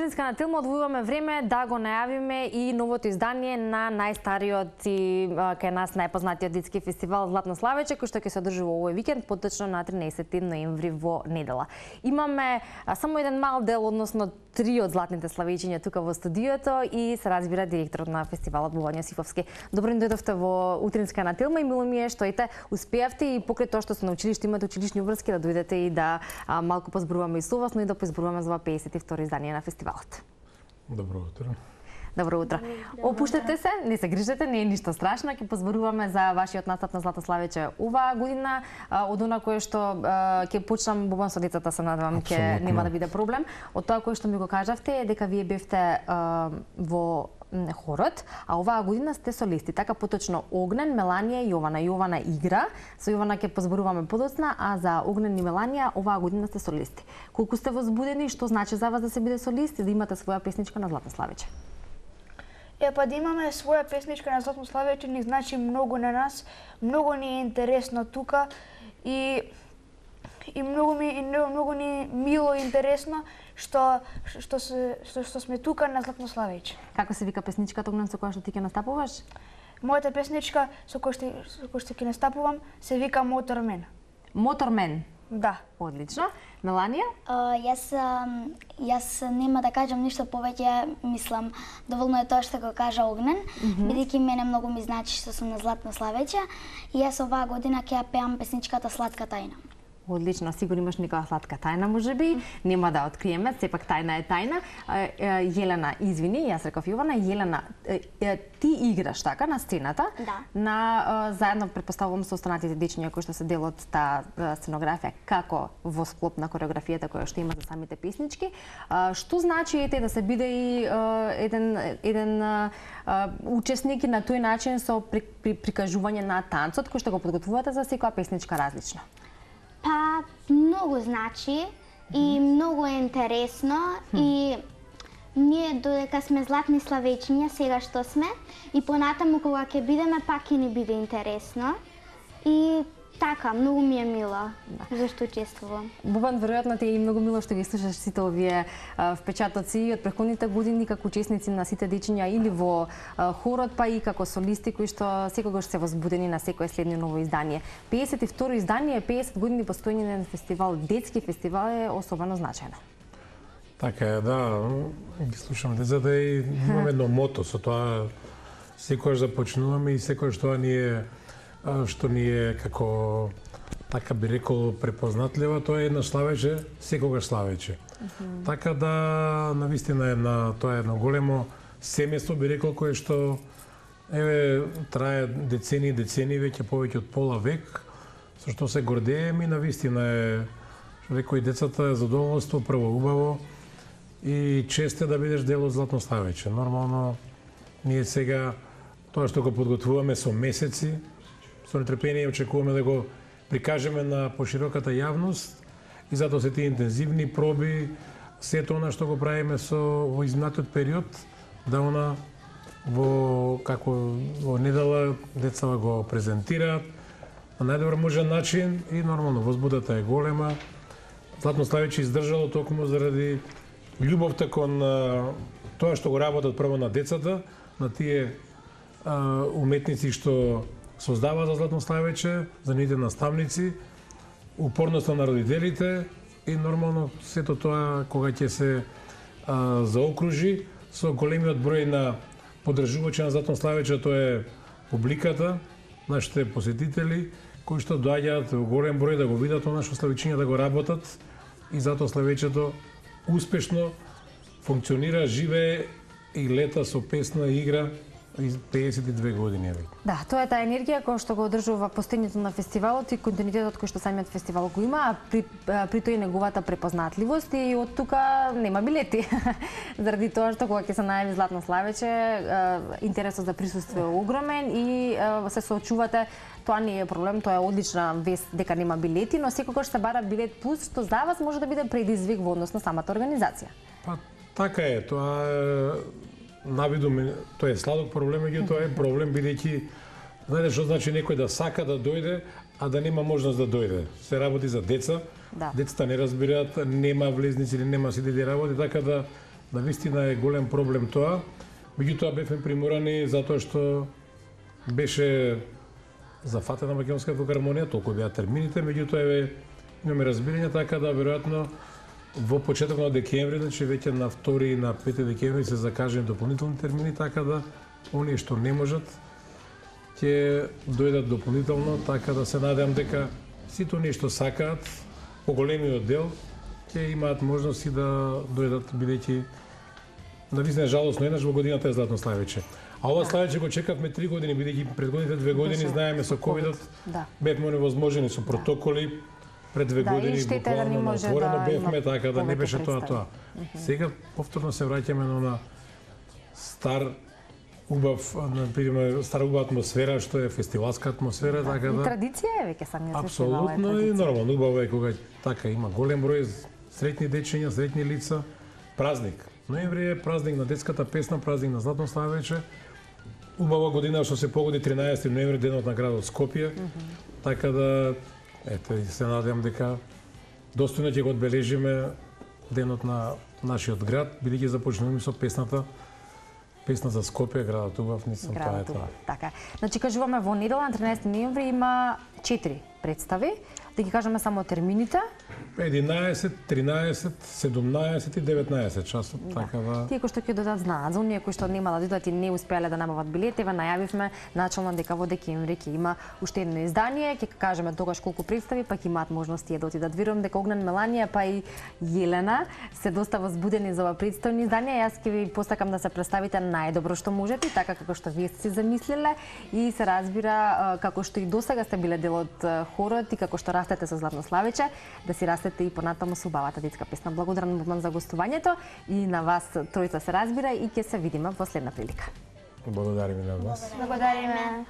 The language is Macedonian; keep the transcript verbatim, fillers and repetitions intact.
Утринска на Тилма одвојуваме време да го најавиме и новото издание на најстариот и кај нас најпознатиот детски фестивал Златно славече, кој што ќе се одржува овој викенд, поточно на тринаесетти ноември во недела. Имаме а, само еден мал дел, односно три од златните славечиња тука во студиото и се разбира директорот на фестивалот Бувања Сифовски. Добро ни дојдовте во Утринска на Тилма и мило ми е што ите успеавте и покрај тоа што сте на училиште имате училишни врски да дојдете и да а, малку позборуваме и со вас, но и да позборуваме за педесет и второ издание на фестивалот. Добро утро. Добро утро. Опуштете се, не се грижете, не е ништо страшно. Ќе позборуваме за вашиот настап на Златно славече оваа година, од она кое што ќе почнам бубан со децата, се надевам ќе нема да биде проблем. Од тоа кое што ми го кажавте е дека вие бевте во хорот, а оваа година сте солисти. Така поточно Огнен, Меланија и Јована. Јована игра, со Јована ќе позборуваме подоцна, а за Огнен и Меланија оваа година сте солисти. Колку сте возбудени, што значи за вас да се биде солист и да имате своја песничка на Златно славече? Е, па да имаме своја песничка на Златно славече ни значи многу на нас, многу ни е интересно тука и и многу ми и многу, многу ни мило и интересно што што се што, што сме тука на Златно славече. Како се вика песничката Огнен со која што ти ќе настапуваш? Мојата песничка со која што со која што ќе настапувам се вика Мотормен. Мотормен. Да. Одлично. Меланија? Uh, јас, јас нема да кажам ништо повеќе, мислам, доволно е тоа што го кажа Огнен, mm -hmm. бидејќи мене многу ми значи што сум на Златно славече и јас оваа година ќе ја пеам песничката Сладка тајна. Одлично, сигурно имаш некоја сладка тајна, можеби, нема да откриеме, сепак тајна е тајна. Јелена, извини, јас реков Јована, Јелена, ти играш така на сцената, да. на заедно претпоставувам со останатите дечиња кои што се дел од таа сценографија, како во склоп на кореографијата која што има за самите песнички. Што значи ете да се биде и еден еден учесник на тој начин со при, при, прикажување на танцот кој што го подготвувате за секоја песничка различно? Па, многу значи и многу е интересно и ние додека сме златни славечиња, сега што сме, и понатаму кога ќе бидеме пак ќе ни биде интересно и така, многу ми е мило да. Зашто учествувам. Бубан, веројатно ти е и многу мило што ги слушаш сите овие а, впечатоци од претходните години како учесници на сите дечиња или во а, хорот, па и како солисти кои што секогаш се возбудени на секое следно ново издание. педесет и второ издание, педесет години постоење на фестивал, детски фестивал е особено значајно. Така е, да, ги слушам децата и имаме едно мото, со тоа секогаш започнуваме и секогаш тоа ни е што ни е како, така би рекол, препознатливо, тоа е едно славече, секогаш славече. Mm -hmm. Така да, навистина е на тоа е едно големо семејство, би рекол, кое што еве трае децени и децени, веќе повеќе од пола век, со што се гордееме и навистина е, што рекои децата, е задоволство, прво убаво и чест е да бидеш дел од Златно славече. Нормално, ние сега тоа што го подготвуваме со месеци, со нетрпение очекуваме да го прикажеме на пошироката јавност и затоа се тие интензивни проби, сето она што го правиме со во изминатиот период, да она во како во недела децата го презентираат на најдобар можен начин и нормално возбудата е голема. Златно славече издржало токму заради љубовта кон тоа што го работат прво на децата, на тие а, уметници што создава за Златно славече, за нивните наставници, упорноста на родителите и нормално сето тоа кога ќе се а, заокружи со големиот број на поддржувачи на Златно славече, тоа е публиката, нашите посетители, кои што доаѓаат во голем број да го видат она што славечиња да го работат и затоа славечето успешно функционира, живее и лета со песна и игра педесет и две години е. Да, тоа е таа енергија која што го одржува постоењето на фестивалот и континуитетот кој што самиот фестивал го има, а при, при тој неговата препознатливост и од тука нема билети. Заради тоа што кога ќе се најави Златно славече, интересот за присуство е огромен и се соочувате. Тоа не е проблем, тоа е одлична вест дека нема билети, но секогаш се бара билет плюс, што за вас може да биде предизвик во однос на самата организација. Па така е, тоа е навиду, тоа е сладок проблем, меѓу тоа е проблем бидејќи знаете што значи некој да сака да дојде, а да нема можност да дојде. Се работи за деца. Да. Децата не разбираат, нема влезници или нема сиди да работи, така да да вистина е голем проблем тоа. Меѓутоа бевме приморани затоа што беше зафатена Македонска филхармонија, толку беа термините, меѓутоа еве имаме разбирање така да веројатно во почеток на декември, значи веќе на втори и на пети декември се закажани дополнителни термини, така да оние што не можат ќе дојдат дополнително, така да се надевам дека сите оние што сакаат поголемиот дел ќе имаат можности да дојдат, бидејќи навистина жалосно еднаш во годината е Златно Славиче. А ова Славиче го чекавме три години, бидејќи предходните две години знаеме со ковидот Да. бевме невозможени со протоколи. Пред две Да, години и штета е да не буквално може отворено да бевме, има така да не повеќе беше тоа представи. тоа. Сега повторно се враќаме на она стар убав, на пример, стара убава атмосфера што е фестивалска атмосфера, така И да традиција е веќе самиот фестивал. е апсолутно и традиција. нормално убаво е кога така има голем број среќни дечиња, среќни лица, празник. Ноември е празник на детската песна, празник на Златно Славиче. Убава година што се погоди тринаесети ноември, денот на градот Скопје. Mm -hmm. Така да ете се надевам дека достојно ќе го одбележиме денот на нашиот град, бидејќи започнуваме со песната Песна за Скопје, градот убав, мислам тоа е Градот тоа. убав. Така. Значи кажуваме во недела на тринаесети ноември има четири представи. Да ги кажеме само термините. единаесет, тринаесет, седумнаесет и деветнаесет часот, така да. Тие кои што ќе додат знаат, за оние кои што нема да додат и не успеале да набават билети, ве најавивме начално дека во декември ќе има уште едно издание, ќе кажеме тогаш колку представи, па ќе имаат можност тие да отидат. Верувам дека Огнен, Меланија па и Јелена се доста возбудени за ова претстојно издание. Јас ќе ви посакам да се представите најдобро што можете, така како што вие сте си замислиле и се разбира како што и досега сте биле дел од хорот и како што растете со Златно Славиче, да си растете и понатаму со убавата детска песна. Благодарам Богдан за гостувањето и на вас тројца се разбира и ќе се видиме во следна прилика. Благодариме на вас. Благодариме.